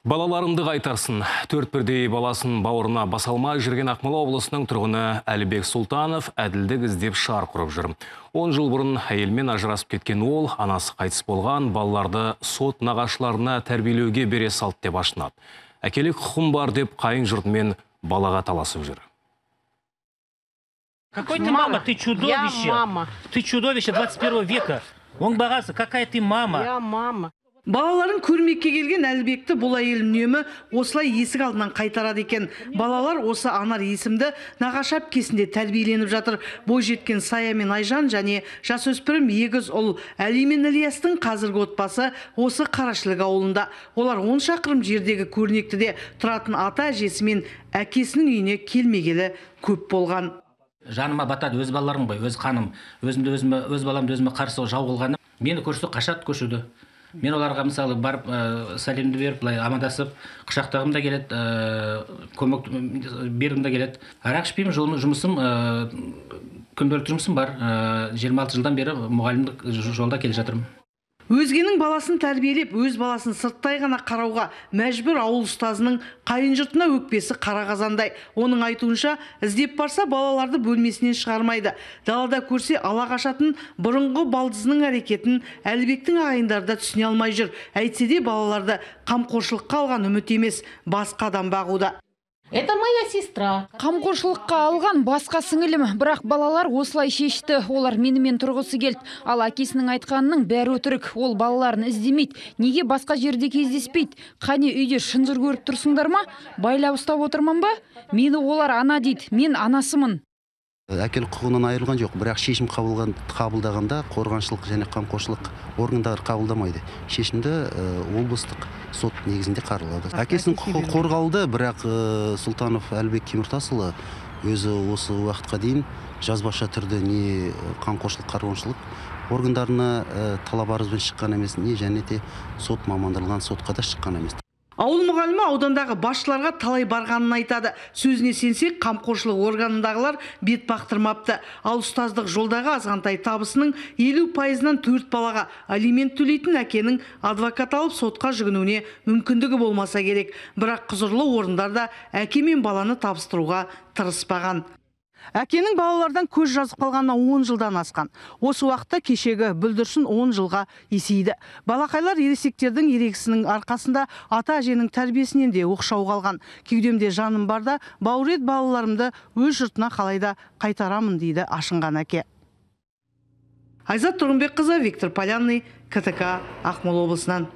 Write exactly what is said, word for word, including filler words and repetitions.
Балаларымды қайтарсын. Төрт бірдей баласын бауырына басалмай жүрген Ақмола облысының тұрғыны Әлібек Сұлтанов әділдік іздеп шар құрып жүр. он жыл бұрын әйелмен ажырасып кеткен ол, анасы қайтыс болған балаларды сот нағашыларына тәрбиелеуге бере салды деп ашынады. Әкелік құқым бар деп қайын жұртымен балаға таласып жүр. Какой ты мама? Ты чудовище. Я мама. Ты чудовище двадцать первого века. Он бағасы, какая ты мама? Я мама. Балаларын көрмекке келген Әлібекті бұл әйел үнемі осылай есік алдынан қайтарады екен. Балалар осы Анар есімді нағашы әпкесінде тәрбиеленіп жатыр. Бойжеткен Сая мен Айжан және жасөспірім егіз ұл Әли мен Ілиястың қазіргі отбасы осы Қарашылық ауылында. Олар он шақырым жердегі көрнектіде тұратын ата әжесі мен әкесінің үйіне келмегелі көп болған. Жаныма батады өз балаларым ғой, өз қаным, өзімді өзіме, өз баламды өзіме қарсы жау қылғаны. Мені көрсе қашады көшуді. Мен оларға мысалы барып ә, сәлемді беріп, былай амандасып, құшақтағым да келеді, ә, көмек бергім де келеді. Арақ ішпеймін, жұмысым, ә, күнделікті жұмысым бар. Ә, жиырма алты жылдан бері мұғалімдік жолда келе жатырмын. Өзгенің баласын тәрбиелеп, өз баласын сырттай ғана қарауға мәжбүр ауыл ұстазының қайын жұртына өкпесі қара қазандай. Оның айтуынша, іздеп барса балаларды бөлмесінен шығармайды. Далада көрсе ала қашатын бұрынғы балдызының әрекетін Әлібектің ағайындары да түсіне алмай жүр. Әйтсе де балаларды қамқоршылыққа алған үміт емес, басқа адам бағуда. Это моя сестра. Қамқоршылыққа алған басқа сіңілім, бірақ балалар осылай шешті. Олар менімен тұрғысы келді. Ал әкесінің айтқанының бәрі өтірік. Ол балаларын іздемейді. Неге басқа жерде кездеспейді? Қане үйде шынжыр көріп тұрсыңдар ма? Байлап ұстап отырман ба? Мені олар ана дейді. Мен анасымын. Әкелік құқығынан айырылған жоқ, бірақ шешім қабылдағанда қорғаншылық және қамқоршылық органдары қабылдамайды. Шешімді облыстық сот негізінде қаралады. Әкесінің құқығы қорғалды, бірақ Сұлтанов Әлібек Теміртасұлы өзі осы уақытқа дейін жазбаша түрде не қамқоршылық қарғаншылық органдарына талап арызбен шыққан емес, не және де сот мамандырылған сотқа да шыққан емес. Ауыл мұғалімі аудандағы басшыларға талай барғанын айтады. Сөзіне сенсек, қамқоршылық органындағылар бет бақтырмапты. Ал ұстаздық жолдағы азғантай табысының елу пайызынан төрт балаға алимент төлейтін әкенің адвокат алып сотқа жүгінуіне мүмкіндігі болмаса керек. Бірақ құзырлы орындарда әке мен баланы табыстыруға тырыспаған. Әкенің балалардан көз жазып қалғанына он жылдан асқан. Осы уақытта кешегі бүлдіршін он жылға есейді. Балақайлар ересектердің ерегісінің арқасында ата әженің тәрбиесінен де оқшау қалған. Кеудемде жаным барда бауырет балаларымды өз жұртына қалайда қайтарамын дейді ашынған әке. Айзат Тұрғынбекқызы, Виктор Полянный, КТК, Ақмола облысынан.